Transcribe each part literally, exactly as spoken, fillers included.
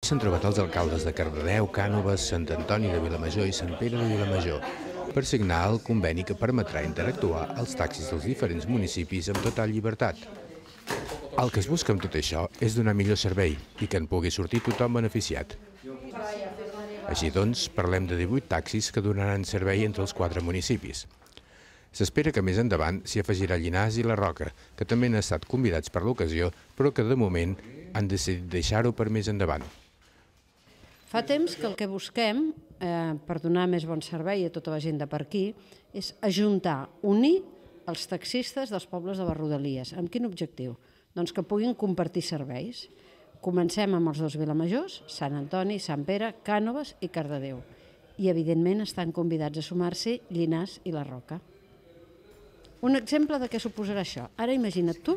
S'han trobat els alcaldes de Cardedeu, Cànoves, Sant Antoni de Vilamajor i Sant Pere de Vilamajor per signar el conveni que permetrà interactuar els taxis dels diferents municipis amb total llibertat. El que es busca amb tot això és donar millor servei i que en pugui sortir tothom beneficiat. Així doncs, parlem de divuit taxis que donaran servei entre els quatre municipis. S'espera que més endavant s'hi afegirà Llinars i la Roca, que també han estat convidats per l'ocasió, però que de moment han decidit deixar-ho per més endavant. Fa temps que el que busquem, eh, per donar més bon servei a tota la gent de per aquí, és ajuntar, unir els taxistes dels pobles de les Rodalies. Amb quin objectiu? Doncs que puguin compartir serveis. Comencem amb els dos Vilamajors, Sant Antoni, Sant Pere, Cànoves i Cardedeu. I, evidentment, estan convidats a sumar-s'hi Llinars i la Roca. Un exemple de què suposarà això. Ara imagina't tu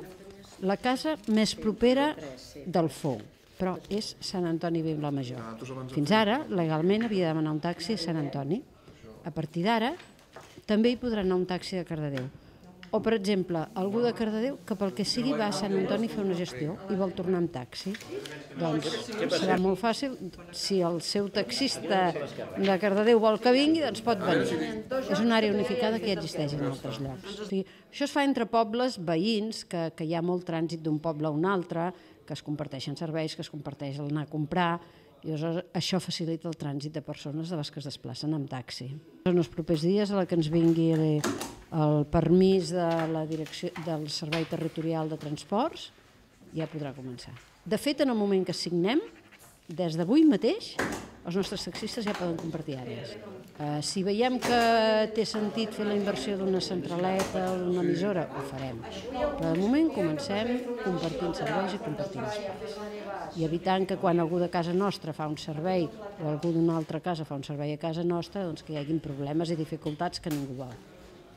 la casa més propera del Fou, però és Sant Antoni Vilamajor. Fins ara, legalment, havia de demanar un taxi a Sant Antoni. A partir d'ara, també hi podrà anar un taxi de Cardedeu. O, per exemple, algú de Cardedeu que pel que sigui va a Sant Antoni a fer una gestió i vol tornar amb taxi. Doncs serà molt fàcil. Si el seu taxista de Cardedeu vol que vingui, doncs pot venir. És una àrea unificada que ja existeix en altres llocs. O sigui, això es fa entre pobles veïns, que, que hi ha molt trànsit d'un poble a un altre, que es comparteixen serveis, que es comparteix l'anar a comprar, i això facilita el trànsit de persones de les que es desplacen amb taxi. En els propers dies, a la que ens vingui el permís de la direcció del Servei Territorial de Transports, ja podrà començar. De fet, en el moment que signem, des d'avui mateix, els nostres taxistes ja poden compartir àrees. Eh, si veiem que té sentit fer la inversió d'una centraleta o d'una emissora, ho farem. Però de moment comencem compartint serveis i compartint espais. I evitant que quan algú de casa nostra fa un servei o algú d'una altra casa fa un servei a casa nostra, doncs que hi hagi problemes i dificultats que ningú vol.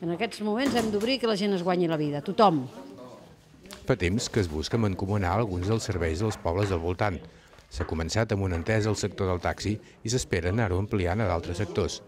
En aquests moments hem d'obrir que la gent es guanyi la vida, tothom. Fa temps que es busca mancomunar alguns dels serveis dels pobles del voltant. S'ha començat amb una entesa al sector del taxi i s'espera anar-ho ampliant a d'altres sectors.